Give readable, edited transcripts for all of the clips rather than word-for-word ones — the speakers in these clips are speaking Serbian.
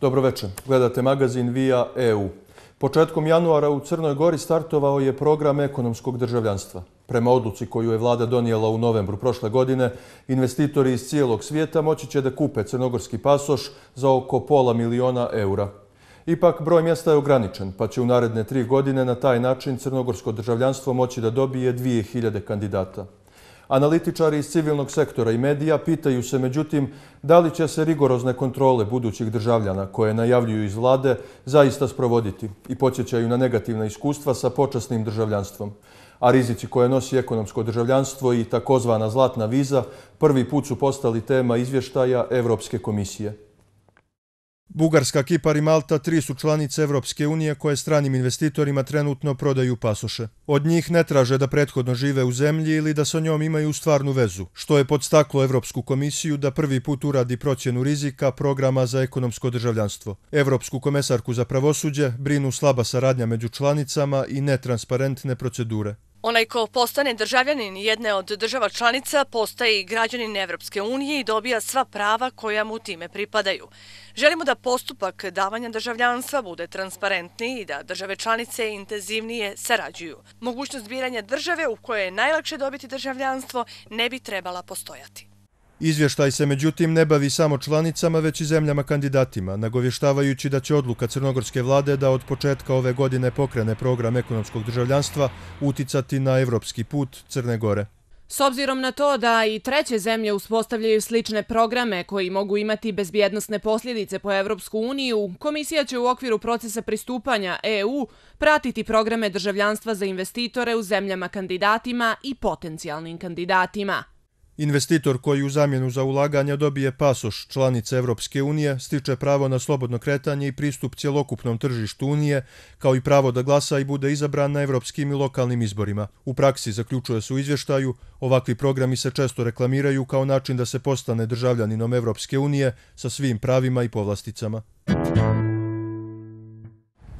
Dobroveče, gledate magazin Via EU. Početkom januara u Crnoj Gori startovao je program ekonomskog državljanstva. Prema odluci koju je vlada donijela u novembru prošle godine, investitori iz cijelog svijeta moći će da kupe crnogorski pasoš za oko €500.000. Ipak, broj mjesta je ograničen, pa će u naredne 3 godine na taj način crnogorsko državljanstvo moći da dobije 2000 kandidata. Analitičari iz civilnog sektora i medija pitaju se, međutim, da li će se rigorozne kontrole budućih državljana koje najavljuju iz vlade zaista sprovoditi i podsjećaju na negativna iskustva sa počasnim državljanstvom. A rizici koje nosi ekonomsko državljanstvo i takozvana zlatna viza prvi put su postali tema izvještaja Evropske komisije. Bugarska, Kipar i Malta 3 su članice Evropske unije koje stranim investitorima trenutno prodaju pasoše. Od njih ne traže da prethodno žive u zemlji ili da sa njom imaju stvarnu vezu, što je podstaklo Evropsku komisiju da prvi put uradi procjenu rizika programa za ekonomsko državljanstvo. Evropsku komesarku za pravosuđe brinu slaba saradnja među članicama i netransparentne procedure. Onaj ko postane državljanin jedne od država članica postaje i građanin Evropske unije i dobija sva prava koja mu time pripadaju. Želimo da postupak davanja državljanstva bude transparentniji i da države članice intenzivnije sarađuju. Mogućnost biranja države u kojoj je najlakše dobiti državljanstvo ne bi trebala postojati. Izvještaj se međutim ne bavi samo članicama, već i zemljama kandidatima, nagovještavajući da će odluka crnogorske vlade da od početka ove godine pokrene program ekonomskog državljanstva uticati na evropski put Crne Gore. S obzirom na to da i treće zemlje uspostavljaju slične programe koji mogu imati bezbjednosne posljedice po Evropsku uniju, komisija će u okviru procesa pristupanja EU pratiti programe državljanstva za investitore u zemljama kandidatima i potencijalnim kandidatima. Investitor koji u zamjenu za ulaganja dobije pasoš članice Evropske unije stiče pravo na slobodno kretanje i pristup cjelokupnom tržištu Unije, kao i pravo da glasa i bude izabran na evropskim i lokalnim izborima. U praksi, zaključuje se u izvještaju, ovakvi programi se često reklamiraju kao način da se postane državljaninom Evropske unije sa svim pravima i povlasticama.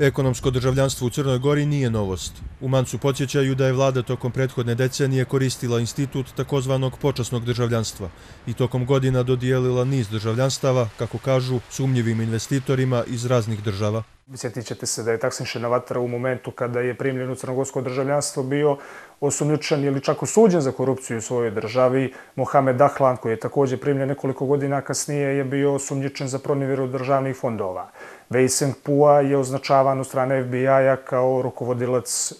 Ekonomsko državljanstvo u Crnoj Gori nije novost. U Mancu podsjećaju da je vlada tokom prethodne decenije koristila institut takozvanog počasnog državljanstva i tokom godina dodijelila niz državljanstava, kako kažu, sumnjivim investitorima iz raznih država. Sjetit ćete se da je Taksin Šenavatra u momentu kada je primljen u crnogorsko državljanstvo bio osumnjičen ili čak osuđen za korupciju u svojoj državi. Mohamed Dahlan, koji je također primljen nekoliko godina kasnije, je bio osumnjičen za pronevjeru državnih fondova. Wei Sengpua je označavan od strane FBI-a kao rukovodilac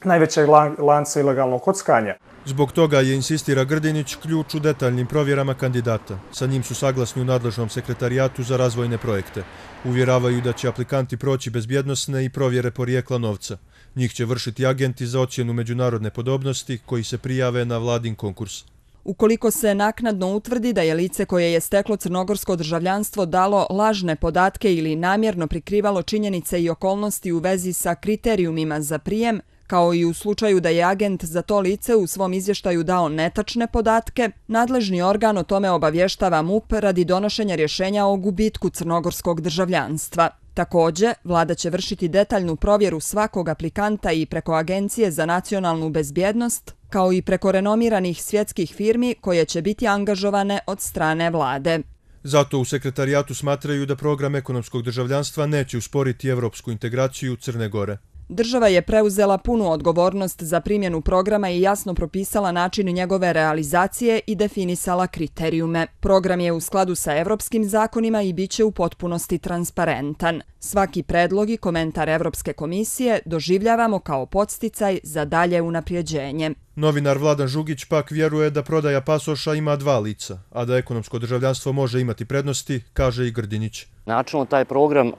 najvećeg lanca ilegalnog kockanja. Zbog toga je, insistira Grdinić, ključ u detaljnim provjerama kandidata. Sa njim su saglasni u nadležnom sekretarijatu za razvojne projekte. Uvjeravaju da će aplikanti proći bezbjednosne i provjere porijekla novca. Njih će vršiti agenti za ocjenu međunarodne podobnosti koji se prijave na vladin konkurs. Ukoliko se naknadno utvrdi da je lice koje je steklo crnogorsko državljanstvo dalo lažne podatke ili namjerno prikrivalo činjenice i okolnosti u vezi sa kriterijumima za prijem, kao i u slučaju da je agent za to lice u svom izvještaju dao netačne podatke, nadležni organ o tome obavještava MUP radi donošenja rješenja o gubitku crnogorskog državljanstva. Također, vlada će vršiti detaljnu provjeru svakog aplikanta i preko Agencije za nacionalnu bezbjednost, kao i preko renomiranih svjetskih firmi koje će biti angažovane od strane vlade. Zato u sekretarijatu smatraju da program ekonomskog državljanstva neće usporiti evropsku integraciju Crne Gore. Država je preuzela punu odgovornost za primjenu programa i jasno propisala način njegove realizacije i definisala kriterijume. Program je u skladu sa evropskim zakonima i bit će u potpunosti transparentan. Svaki predlog i komentar Evropske komisije doživljavamo kao podsticaj za dalje unaprijeđenje. Novinar Vladan Žugić pak vjeruje da prodaja pasoša ima 2 lica, a da ekonomsko državljanstvo može imati prednosti, kaže i Grdinić. Načelno taj program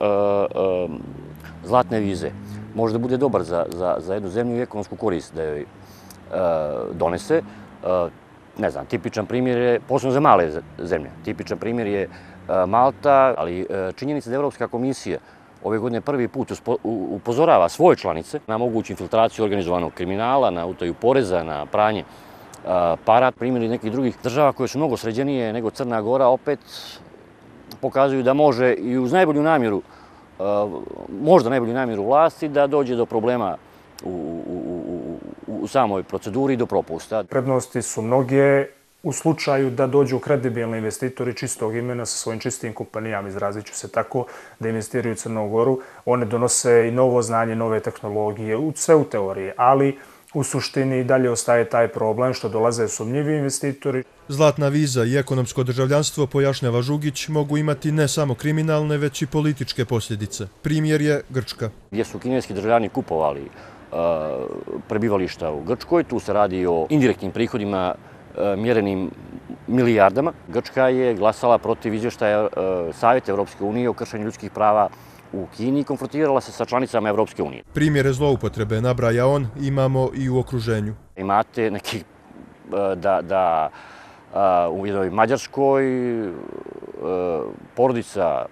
zlatne vize može da bude dobar za jednu zemlju i ekonomsku korist da joj donese. Ne znam, tipičan primjer je, posebno za male zemlje, tipičan primjer je Malta, ali činjenica da Evropska komisija ove godine prvi put upozorava svoje članice na moguću infiltraciju organizovanog kriminala, na utaju poreza, na pranje para. Primjeri nekih drugih država koje su mnogo sređenije nego Crna Gora opet pokazuju da može i uz najbolju namjeru, možda najbolju namjeru vlasti, da dođe do problema u samoj proceduri i do propusta. Prednosti su mnoge. u slučaju da dođu kredibilni investitori čistog imena sa svojim čistim kompanijama, izrazit ću se tako, da investiraju u Crnu Goru. One donose i novo znanje, nove tehnologije, sve u teoriji, ali u suštini dalje ostaje taj problem što dolaze sumnjivi investitori. Zlatna viza i ekonomsko državljanstvo, pojašnjava Žugić, mogu imati ne samo kriminalne, već i političke posljedice. Primjer je Grčka. Gdje su kineski državljani kupovali prebivališta u Grčkoj, tu se radi o indirektnim prihodima mjerenim milijardama. Grčka je glasala protiv izvještaja Savjeta Evropske unije o kršenju ljudskih prava u Kini i konfrontirala se sa članicama Evropske unije. Primjere zloupotrebe, nabraja on, imamo i u okruženju. Imate neki da u jednoj Mađarskoj porodica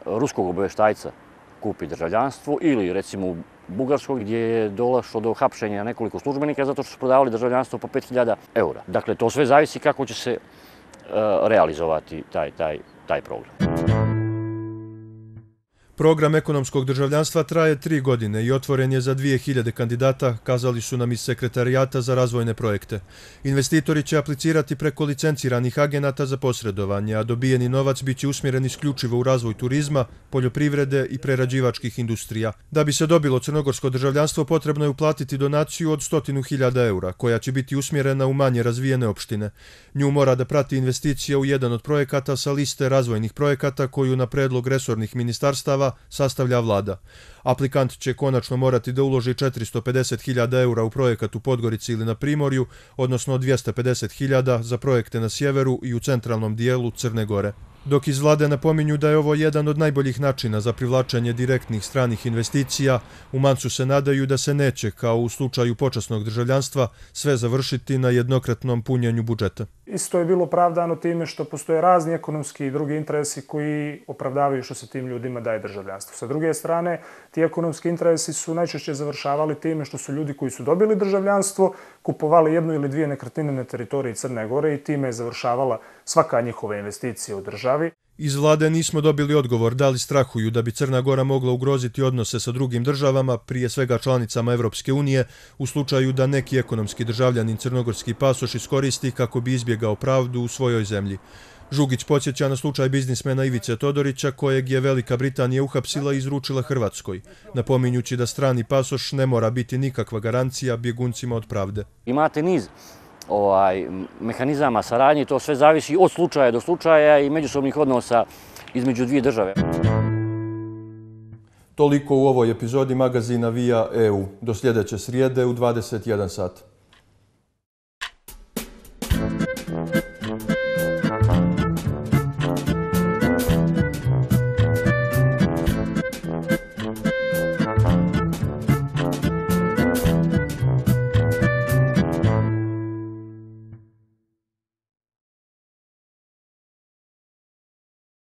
ruskog obavještajca kupi državljanstvo ili recimo u Bugarskoj gdje je došlo do hapšenja nekoliko službenika zato što su prodavali državljanstvo po 5.000 eura. Dakle, to sve zavisi kako će se realizovati taj program. Program ekonomskog državljanstva traje 3 godine i otvoren je za 2000 kandidata, kazali su nam iz Sekretarijata za razvojne projekte. Investitori će aplicirati preko licenciranih agenata za posredovanje, a dobijeni novac biće usmjeren isključivo u razvoj turizma, poljoprivrede i prerađivačkih industrija. Da bi se dobilo crnogorsko državljanstvo, potrebno je uplatiti donaciju od 100.000 eura, koja će biti usmjerena u manje razvijene opštine. Nju mora da prati investicija u jedan od projekata sa liste razvojnih projekata koju na predlog resornih ministarstava sastavlja vlada. Aplikant će konačno morati da uloži 450.000 eura u projekat u Podgorici ili na Primorju, odnosno 250.000 za projekte na sjeveru i u centralnom dijelu Crne Gore. Dok iz vlade napominju da je ovo jedan od najboljih načina za privlačenje direktnih stranih investicija, u Mancu se nadaju da se neće, kao u slučaju počasnog državljanstva, sve završiti na jednokratnom punjenju budžeta. Isto je bilo pravdano time što postoje razni ekonomski i drugi interesi koji opravdavaju što se tim ljudima daje državljanstvo. Sa druge strane, ti ekonomski interesi su najčešće završavali time što su ljudi koji su dobili državljanstvo kupovali jednu ili dvije nekretnine na teritoriji Crne Gore i time je završavala svaka njihova investicija u državi. Iz vlade nismo dobili odgovor da li strahuju da bi Crna Gora mogla ugroziti odnose sa drugim državama, prije svega članicama Evropske unije, u slučaju da neki ekonomski državljanin crnogorski pasoš iskoristi kako bi izbjegao pravdu u svojoj zemlji. Žugić podsjeća na slučaj biznismena Ivice Todorića, kojeg je Velika Britanija uhapsila i izručila Hrvatskoj, napominjući da strani pasoš ne mora biti nikakva garancija bjeguncima od pravde. Imate niz mehanizama saradnje, to sve zavisi od slučaja do slučaja i međusobnih odnosa između dvije države. Toliko u ovoj epizodi magazina Via EU. Do sljedeće srijede u 21 sat.